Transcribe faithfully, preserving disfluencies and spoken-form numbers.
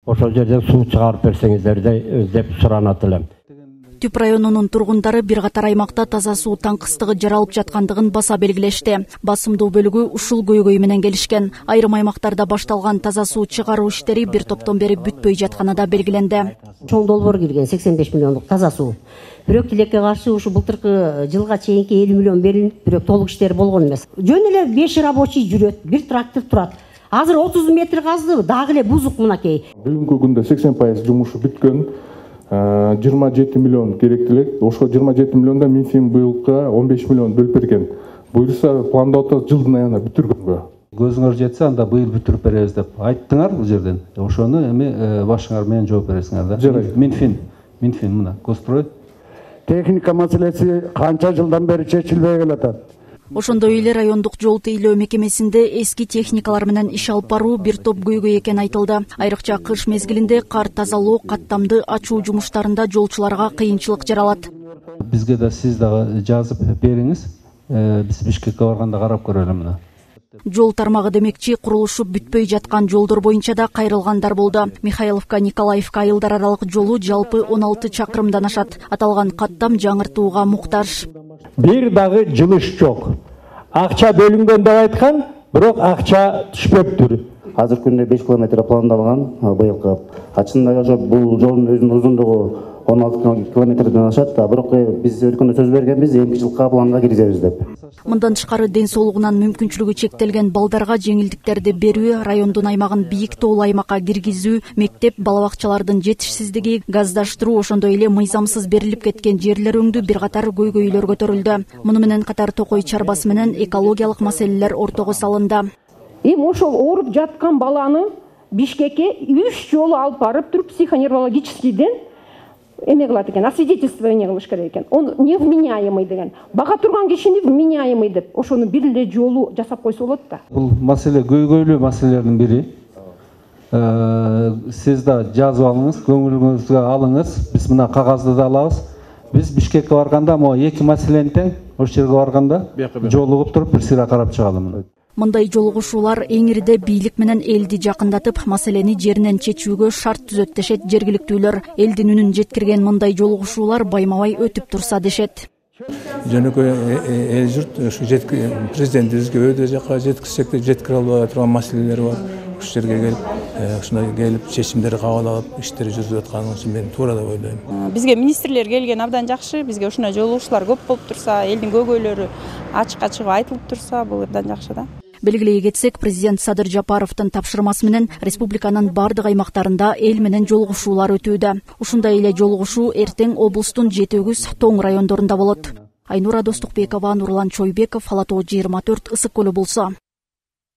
Ошол жерден суу чыгарып берсеңиздер деп суранат элем. Түп районунун тургундары бир катар аймакта таза суу таңкыстыгы жаралып жаткандыгын баса белгилешти. Басымдуу бөлүгү ушул көйгөй менен келишкен. Айрым аймактарда башталган таза суу чыгаруу иштери бир топтон бери бүтпөй жатканы да белгиленди. Чоң долбоор кирген сексен беш миллиондук таза суу. Бирок тилекке каршы ушу былтыркы жылга чейинки элүү миллион берилип, бирок толук иштери болгон эмес. Жөн эле беш рабочий жүрөт, бир трактор турат. Азыр отуз метр казды, дагы эле бузук мынакей. Бүгүнкү күндө сексен пайыз жумушу бүткөн. жыйырма жети миллион керектелек. Ошо жыйырма жети миллионда Минфин быйылга он беш миллион бөлүп берген. Буюрса пландап атат жылдын аягында бүтүргөнгө. Көзүңөр жетсе анда быйыл бүтүрүп беребиз деп айттыңар бул жерден. Ошону эми башыңар менен жооп бересиңер да. Минфин, Минфин мына Госстрой. Техника маселеси канча жылдан бери чечилбей келатат. Ошондой эле райондук жол тейлөө мекемесинде эски техникалар менен иш алып баруу бир топ көйгөй экени айтылды. Айрыкча кыш мезгилинде кар тазалоо, каттамды ачуу жумуштарында жолчуларга кыйынчылык жаралат. Бизге да сиз дагы жазып бериңиз. Биз Бишкекке барганда карап көрөлү мына. Жол тармагы демекчи, курулушу бүтпөй жаткан жолдор боюнча да кайрылгандар болду. Михайловка Николаевка айылдар аралык жолу жалпы он алты чакырымдан ашат. Аталган каттам жаңыртууга муктаж. Бир дагы жылыш жок. Акча бөлүнгөн деп айткан, бирок акча түшпөптүр. Азыр күндө беш километр пландалган быйылкы. Ачында ошо бул жолдун өзүнүн узундугу он алты километрден ашат, бирок биз өлкөдө сөз бергенбиз эки жылга планга киргизебиз деп. Мындан тышкары ден соолугунан мүмкүнчүлүгү чектелген балдарга жеңилдиктерди берүү, райондун аймагын бийик тоолуу аймакка киргизүү, мектеп, бала бакчалардын жетишсиздиги, газдаштыруу, ошондой эле мыйзамсыз берилип кеткен жерлер өңдүү бир катар көйгөйлөр көтөрүлдү. Муну менен катар Токой чарбасы менен экологиялык маселелер ортого салынды. Эми ошол ооруп жаткан баланы Бишкекке үч жолу алып барып туруп психоневрологическийден эме кылат экен, освидетельствование кылыш керек экен. Он невменяемый деген. Бага турган кишини вменяемый деп ошону бир эле жолу жасап койсо болот да. Бул маселе көйгөйлүү маселелердин бири. Сиз да жазып алыңыз, көңүлүңүзгө алыңыз. Биз мына кагазды да алабыз. Биз Бишкекке барганда могу эки маселени тең ошол жерге барганда жолугуп туруп бир сыйра карап чыгалым. Мындай жолугушуулар эңирде бийлик менен элди жакындатып, маселени жеринен чечүүгө шарт түзөт дешет жергиликтүүлөр. Элдин үнүн жеткирген мындай жолугушуулар байма-бай өтүп турса дешет. Жөнөкөй эл журт ушу президентибизге өйдө жака жеткизсек да жеткире албай турган маселелер бар. Ушул жерге келип, ушундай келип чечимдер кабыл алып, иштер жүргүзүп атканы үчүн мен туура деп ойлойм. Бизге министрлер келген абдан жакшы. Бизге ушундай жолугушуулар көп болуп турса, элдин көйгөйлөрү ачык-ачык айтылып турса, бул абдан жакшы да. Белгилей кетсек, президент Садыр Жапаровдун тапшырмасы менен республиканын бардык аймактарында эл менен жолугушуулар өтүүдө. Ушундай эле жолугушуу эртең облустун жети өгүз Тоң райондорунда болот. Айнура Достукбекова, Нурлан Чойбеков, Ала тоо жыйырма төрт, Ысык көлү болсо.